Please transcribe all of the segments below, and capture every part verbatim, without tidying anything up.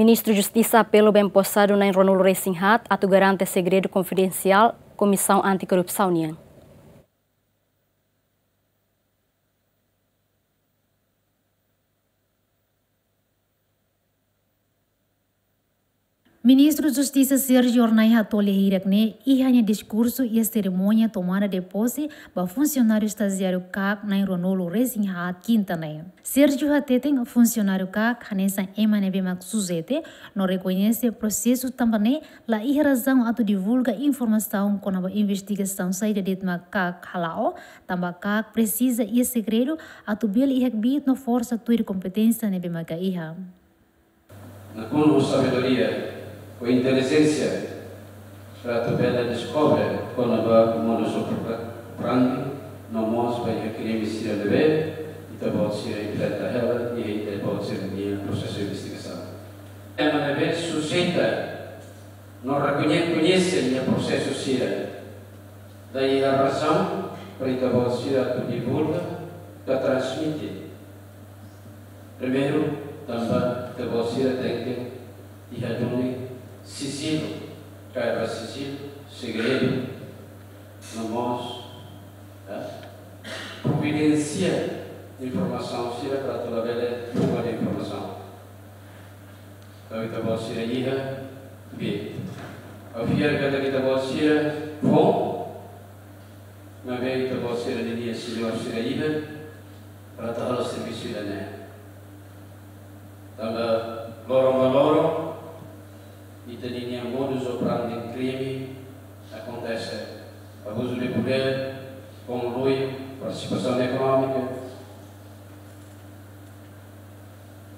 Ministru Justisa apela ba emposadu na'in ruanulu-resin-haat atu garante segredu konfidensiál Komisaun Anti-Korrupsaun nian. Ministru Justisa Sérgio Hornai hato'o lia hirak ne'e iha nia diskursu iha serimónia tomada de pose ba funsionáriu estajiáriu KAK na'in ruanulu-resin-haat kinta ne'e. Sérgio hateten funsionáriu KAK hanesan ema ne'ebé mak sujeita no rekoñese prosesu tanba ne'e la iha razaun atu divulga informasaun kona-ba investigasaun saida de'it mak KAK hala'o, tanba KAK presiza iha segredu atu bele iha kbiit no forsa tuir kompeténsia ne'ebé maka iha. Nakonu ho sabedoria, ho intelijénsia, para atu bele deskobre kona-ba modus operandi no mós ba iha krime sira ne'ebé ita-boot sira enfrenta hela iha ita-boot sira-nia prosesu investigasaun. Ema ne'ebé sujeita no rekoñese, koñese nia prosesu sira, la iha razaun para ita-boot sira atu divulga ka transmite. Primeiru, tanba ita-boot sira tenke iha duni sijilu, kaer ba sijilu, segredu, no mós, eh, providensia informasaun sira para atu labele fuga nia informasaun. Entaun ita-boot sira iha, be, ha'u fiar katak ita-boot sira foun, maibé ita-boot sira ninia señór sira iha, para atu halo servisu ida-ne'e. Tanba loron ba loron, ita ninia modus operandi krime akontese. Abuzu de podér, konluio, partisipasaun ekonómika,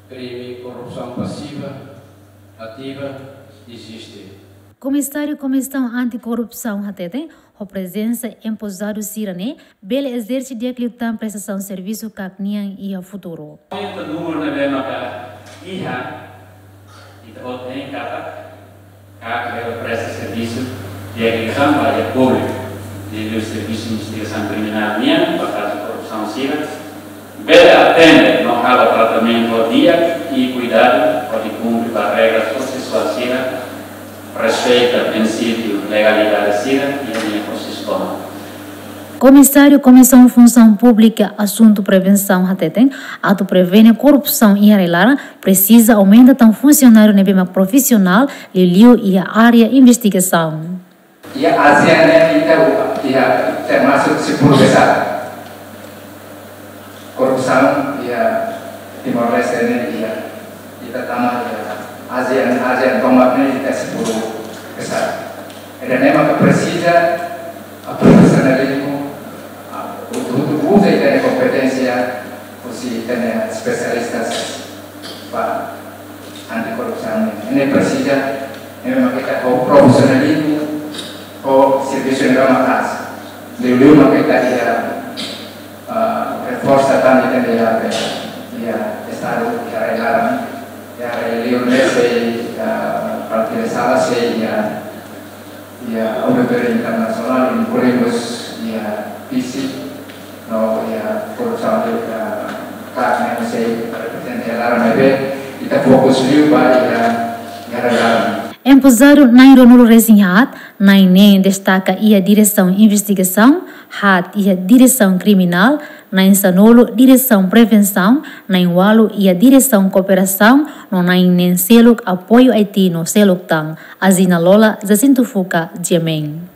krime korrupsaun pasiva, ativa, eziste. Komisáriu Komisaun Anti-Korrupsaun hateten, ho prezensa emposadu sira-ne'e, bele ezerse di'ak liután prestasaun servisu KAK nian iha futuru. Ita númeru ne'ebé maka iha, ita-boot hein katak, KAK bele presta servisu di'ak liután ba iha públiku, liuliu servisu investigasaun kriminál nian, ba kazu korrupsaun sira, bele atende no halo tratamentu di'ak i kuidadu hodi kumpre ba regras prosesuál sira, respeita prinsípiu legalidade sira iha nia prosesu tomak. Komisáriu Komisaun Funsaun Públika Asuntu Prevensaun hateten, atu prevene korrupsaun iha rai-laran, presiza aumenta tan funsionáriu ne'ebé mak profisionál, liuliu iha área investigasaun. Iha ASEAN ne'e ita, iha termasuk sepuluh besar. Korrupsaun iha Timor-Leste ne'e iha, ita tama iha ASEAN, ASEAN tomak ne'e ita sepuluh besar. Ida-ne'e maka presiza, ah, profisionalizmu, ah, utu-utu uza ita-nia kompeténsia, husi ita-nia espesialistas ba anti-korrupsaun ne'e. Ne'e presiza, ne'e maka ita ho profisionalizmu, ho servisu ne'ebé maka'as. Liuliu maka ita iha, ah, reforsa tan ita-nia, iha Estadu, iha rai-laran, iha rai-liur ne'e sei, ah, partida sala sei, iha, iha auditóriu internasionál, inkluidu iha Fisi, no iha korrupsaun iha KAK ne'e sei reprezenta rai-laran ne'ebé ita fokus liu ba iha, iha rai-laran. Emposadu na'in ruanulu-resin-haat, na'in neen destaka iha Diresaun Investigasaun, haat iha Diresaun Kriminál, na'in sanulu Diresaun Prevensaun, na'in ualu iha Diresaun Kooperasaun, no na'in neen seluk Apoiu IT no seluk tan. Azina Lola, Jacinto Fuca, GMN.